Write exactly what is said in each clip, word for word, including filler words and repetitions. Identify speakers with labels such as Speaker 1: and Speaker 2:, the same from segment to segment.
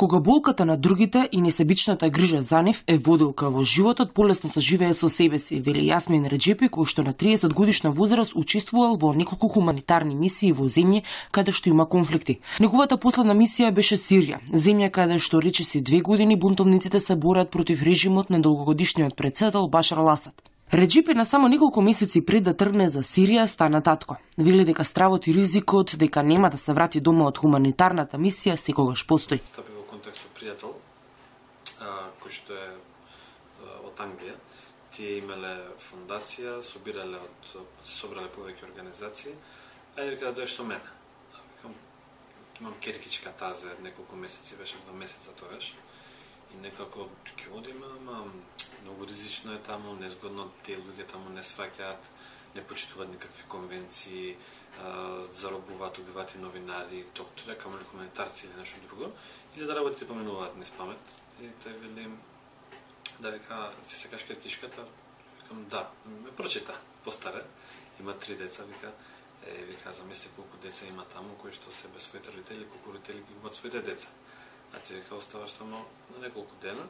Speaker 1: Кога болката на другите и несебичната грижа за нив е водилка во животот, полесно се живее со себе си, вели Јасмин Реджепи, кој што на триесет годишна возраст учествувал во неколку хуманитарни мисии во земји каде што има конфликти. Неговата последна мисија беше Сирија, земја каде што речиси две години бунтовниците се борат против режимот на долгогодишниот председател Башар ал-Асад. Реджепи на само неколку месеци пред да тргне за Сирија стана татко. Вели дека стравот и ризикот дека нема да се врати дома од хуманитарната мисија секогаш постои.
Speaker 2: Стапи во контакт со пријател, кој што е од Англија. Тие имале фондација, собирале од собрале повеќе организации, а ја вика да дојдеш со мене. Викам, имам керкичка таа за неколку месеци, беше два месеца тогаш. И некако ќе одиме, ама многу ризично е таму, незгодно, тие луѓе таму не сваќаат, не почитуваат никакви конвенции, заробуваат, убиваат и новинари, доктори, камо ли хуманитарци или нешто друго, или да работите поменуваат низ памет. И тој вели да вика, си сакаш керкишката? Викам да, ме прочита, постаре, има три деца, вика, е, вика, замисли колку деца има таму, кои што се без своите родители, колку родители ги губат своите деца. А ти вика, оставаш само на неколку дена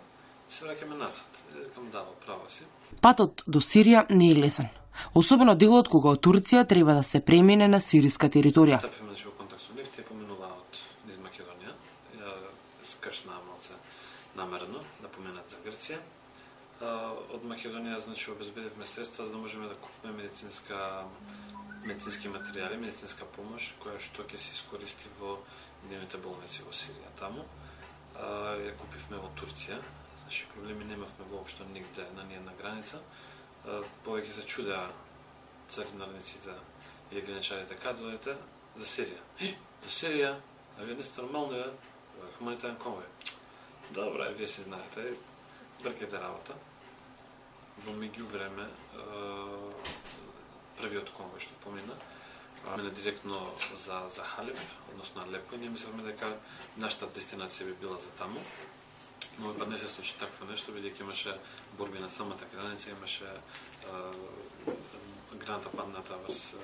Speaker 2: и се враќаме назад. Викам, да, право си.
Speaker 1: Патот до Сирија не е лесен. Особено делот кога од Турција треба да се премине на сириска територија.
Speaker 2: Стапиме значи во контакт со нив, тие поменуваат низ Македонија. Ја скршна малце намерено да поменат за Грција. Од Македонија значи обезбедивме средства за да можеме да купиме медицинска медицински материјали, медицинска помош која што ќе се искористи во дневните болници во Сирија таму. Ја купивме во Турција. Значи проблеми немавме воопшто нигде на ниједна граница. Повеќе се чудеа царинарниците или граничарите каде дојдете за Сирија. За Сирија? А вие не сте нормално е хуманитарен конвој. Добра, вие си знаете, бркете работа. Во меѓувреме првиот конвој што помина мене директно за за Халеб, односно Алепо, и ние мислевме дека нашата дестинација би била за таму. Но па не се случи такво нешто, бидејќи имаше борби на самата граница, имаше граната падната врз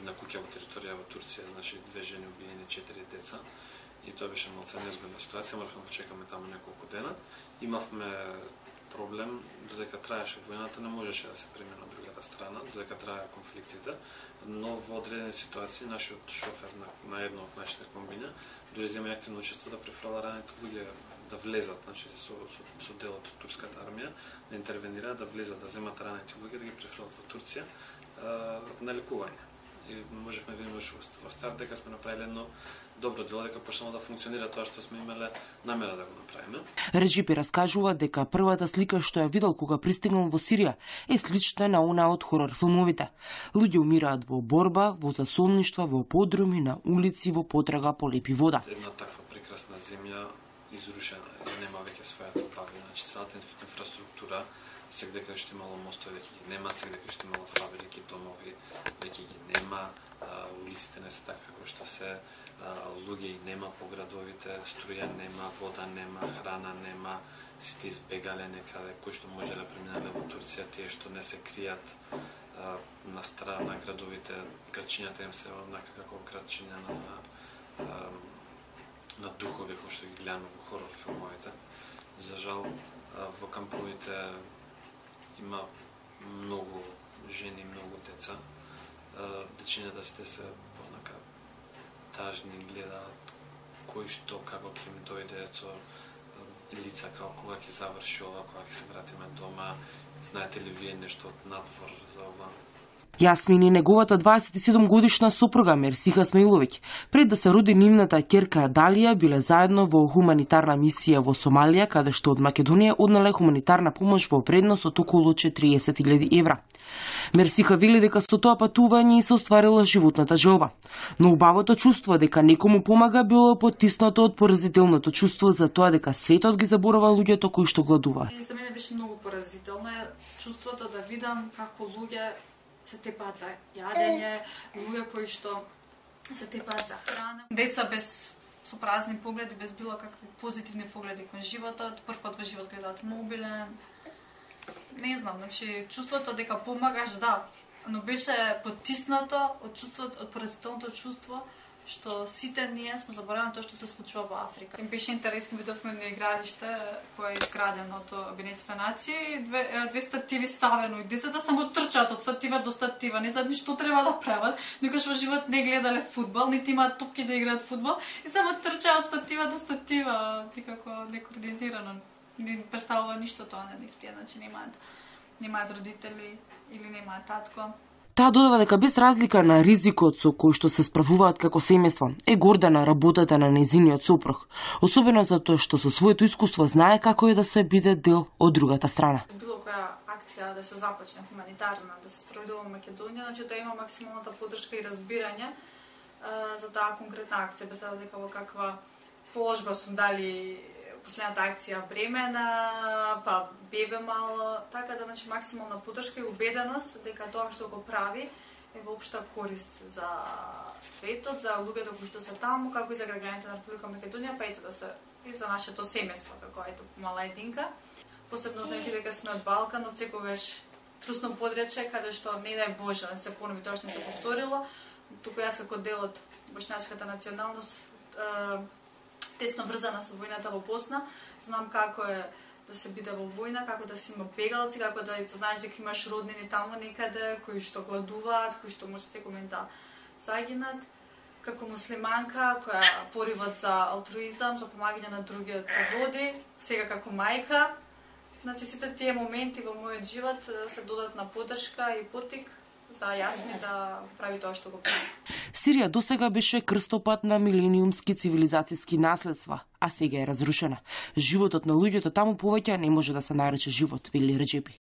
Speaker 2: една куќа во територија во Турција, значи две жени убиени, четири деца. И тоа беше малце незгодна ситуација, моравме да чекаме таму неколку дена. Имавме проблем, додека траеше војната, не можеше да се премине на другата страна, додека траеа конфликтите, но во одредени ситуации нашиот шофер на, на едно од нашите комбиња дури зема активно учество да префрла раните луѓе да влезат, значи со, со, со дел од турската армија, да интервенираат, да влезат, да земат раните луѓе, да ги префрлат во Турција на лекување. И можевме да видиме во стар дека сме направиле едно добро дело, дека почнало да функционира тоа што сме имале намера да го направиме.
Speaker 1: Реджепи раскажува дека првата слика што ја видел кога пристигнал во Сирија е слична на она од хорор филмовите. Луѓе умираат во борба, во засолништва, во подруми, на улици, во потрага по лепи вода.
Speaker 2: Една таква прекрасна земја изрушена, нема веќе својата убавина, значи целата инфраструктура, сегде каде што имало мостови веќе ги нема, сегде каде што имало фабрики, домови веќе ги нема, улиците не се такви кои што се, луѓе и нема по градовите, струја нема, вода нема, храна нема, сите избегале некаде, кои што можеле преминале во Турција, тие што не се кријат на страна на градовите, градчињата им се однака како градчиња на, на, на духови кои што ги гледаме во хорор филмовите. За жал, во камповите има многу жени, многу деца. Дечињата сите се однака тажни, гледаат кој што како ќе им дојде со лица како кога ќе заврши ова, кога ќе се вратиме дома. Знаете ли вие нешто од надвор за ова?
Speaker 1: Јасмин и неговата дваесет и седум годишна сопруга Мерсиха Смаиловиќ, пред да се роди нивната ќерка Далија, биле заедно во хуманитарна мисија во Сомалија, каде што од Македонија однале хуманитарна помош во вредност од околу четириесет илјади евра. Мерсиха вели дека со тоа патување и се остварила животната желба. Но убавото чувство дека некому помага било потиснато од поразителното чувство за тоа дека светот ги заборава луѓето кои што гладуваат.
Speaker 3: За мене беше многу поразително чувството да видам како луѓе се тепаат за јадење, луѓе кои што се тепаат за храна. Деца без со празни погледи, без било какви позитивни погледи кон животот, прв пат во живот гледаат мобилен. Не знам, значи чувството дека помагаш, да, но беше потиснато од чувството, од поразителното чувство што сите ние сме заборавани тоа што се случува во Африка. Им беше интересно, видовме на игралиште кое е изградено од Обединетите нации, две, две стативи ставено и децата само трчаат од статива до статива, не знаат ни што треба да прават, никош во живот не гледале фудбал, нити имаат топки да играат фудбал и само трчаат од статива до статива, некако некоординирано. Не представува ништо тоа на нив, тие, значи немаат немаат родители или немаат татко.
Speaker 1: Таа додава дека без разлика на ризикот со кој што се справуваат како семејство, е горда на работата на нејзиниот сопруг, особено затоа што со своето искуство знае како е да се биде дел од другата страна.
Speaker 3: Било која акција да се започне хуманитарна, да се спроведува во Македонија, значи да има максималната поддршка и разбирање а, за таа конкретна акција, без разлика во каква положба сум дали последната акција бремена, па бебе мало, така да значи максимална поддршка и убеденост дека тоа што го прави е воопшта корист за светот, за луѓето кои што се таму, како и за граѓаните на Република Македонија, па ето да се и за нашето семејство, како ето мала единка. Посебно знаеки дека сме од Балкан, од секогаш трусно подрече, каде што не дај Боже да се понови тоа што не се повторило. Туку јас како дел од бошњачката националност тесно врзана со војната во Босна, знам како е да се биде во војна, како да си има бегалци, како да знаеш дека имаш роднини таму некаде, кои што гладуваат, кои што може секој момент да загинат. Како муслиманка, која поривот за алтруизам, за помагање на другиот води, сега како мајка, значи сите тие моменти во мојот живот се додатна поддршка и поттик за Јасми да прави тоа што го прави.
Speaker 1: Сирија досега беше крстопат на милениумски цивилизацијски наследства, а сега е разрушена. Животот на луѓето таму повеќе не може да се нарече живот, вели Реджепи.